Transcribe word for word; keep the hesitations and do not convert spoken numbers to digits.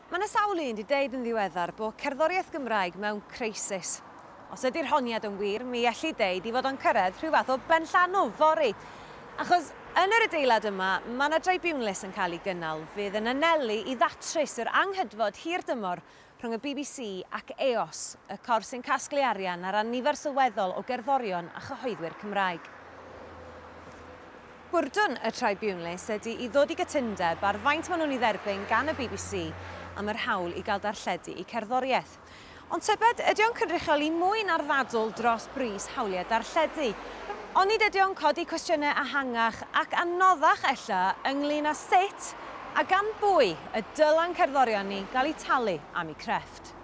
Mae yna sawl un wedi deud yn ddiweddar bod cerddoriaeth Gymraeg mewn creisis. Os ydy'r honiad yn wir, mi elli deud i fod o'n cyrraedd rhyw fath o benllanw fory. Achos yn yr adeilad yma, mae yna dribiwnlys yn cael ei gynnal fydd yn anelu i ddatrys yr anghydfod hir dymor rhwng y B B C ac E O S, y corff sy'n casglu arian ar ran nifer sylweddol o gerddorion a chyhoeddwyr Cymraeg. Bwrdwn y tribiwnlys ydy i ddod i gytundeb ar faint maen nhw'n ei dderbyn gan y B B C am yr hawl i gael darlledu eu cerddoriaeth. Ond tybed, ydy o'n cynrychioli mwy na'r ddadl dros bris hawliau darlledu? Onid ydy o'n codi cwestiynau ehangach ac anoddach ella ynglyn â sut a gan bwy y dyla'n cerddorion ni gael eu talu am eu crefft?